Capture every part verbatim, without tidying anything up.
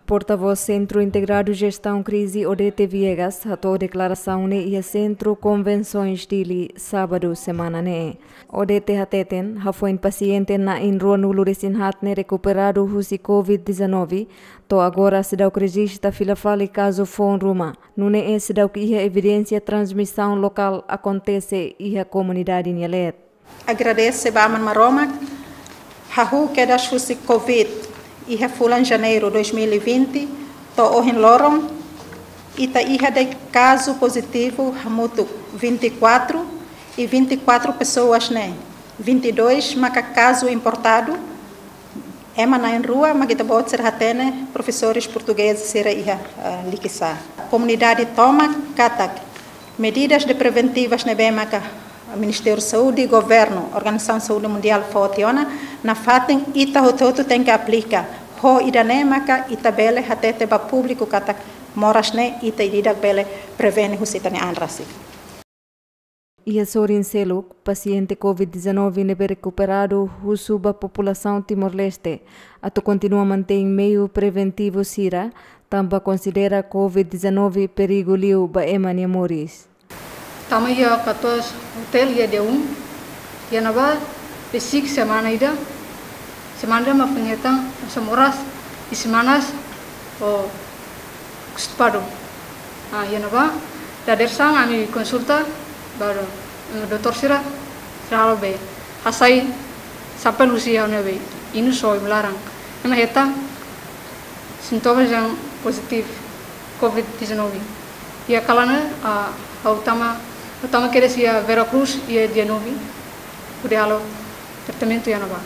Portavós Sentru Integradu Jestaun Krize, Odete Viegas, hato'o deklarasaun ne'e iha Sentru Konvensoens Dili, sábadu semana ne'e. Odete hateten, hafoin pasiente na'in ruanulu resin haat ne'e rekuperadu husi covid dezanove, to'o agora seidauk rejista fila fali kazu foun ruma. Nune'e seidauk iha evidénsia transmisaun lokál akontese iha komunidade nia leet. Agradese ba Aman Maromak, hahú kedas husi covid iha fulan Janeiru dois mil e vinte, to'o ohin loron, ita iha de'it kazu pozitivu hamutuk vinte e quatro, i vinte e quatro pessoas ne'e, vinte e dois maka kazu importadu, ema na'in rua mak ita-boot sira hatene, profesores portugueses sira iha, ah, Likisá. Komunidade tomak katak medidas de preventivas ne'ebé maka Ministériu Saúde, Governu, Organizasaun Saúde Mundiál fó tiha ona, nafatin ita hotu-hotu tenke aplika. Ho ida-ne'e maka ita bele hatete ba públiku katak moras ne'e ita ida-idak bele prevene husi ita-nia an rasik. Iha sorin seluk, pasiente covid dezanove ne'ebé rekuperadu husu ba populasaun Timor-Leste atu kontinua mantein meiu preventivu sira, tanba konsidera covid dezanove perigu liu ba ema nia moris. Tama iha katuas hotel iha dia um, iha ne'ebá besik semana ida, semana ida mak foin hetan, hanesan moras, i semanas, o, kustipadu. Ah, iha ne'ebá, dadeer-saan ami konsulta, ba, mm, doutór sira, sira halo be, hasai, sampel husi ha'u-nia be, inus ho ibu-laran. Ema hetan, sintomas yang positif covid dezanove. Iha kalan ne'e, ah, ha'u tama, ha'u tama kedas iha Vera Cruz, iha dia nove, hodi halo tratamentu iha ne'ebá.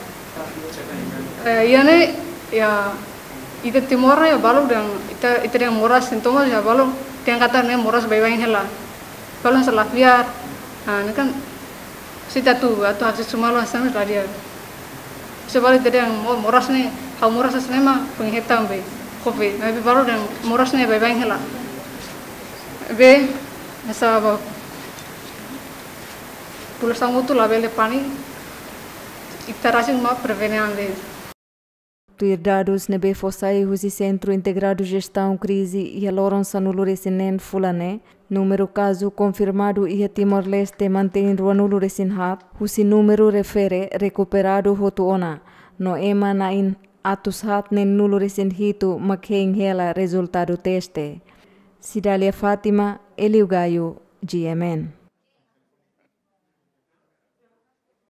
Eh, iha ne'e, iha, ita Timor ne'e, balu dehan, ita, ita dehan moras sintomas iha balu, dehan katak ne'e moras baibain hela. Balu hanesan la fiar, ah, ne'e kan, se ita atu, atu haksoit sumalo hanesan la di'ak. Se balu ita dehan mo-, moras ne'e, ha'u moras hanesan ne'e mak foin hetan be covid. Maibé balu dehan moras ne'e baibain hela. Be, hanesan ba, populasaun hotu labele pániku, ita rasik mak prevene an de'it. Tuir dadus ne'ebé fó sai husi Sentru Integradu Jestaun Krize iha loron sanulu resin neen fulan ne'e, númeru kazu konfirmadu iha Timor-Leste mantein ruanulu resin haat, husi númeru refere rekuperadu hotu ona, no ema na'in atus haat neenulu resin hitu mak hein hela rezultadu teste. Cidália Fátima, Hélio Gaio, G M N.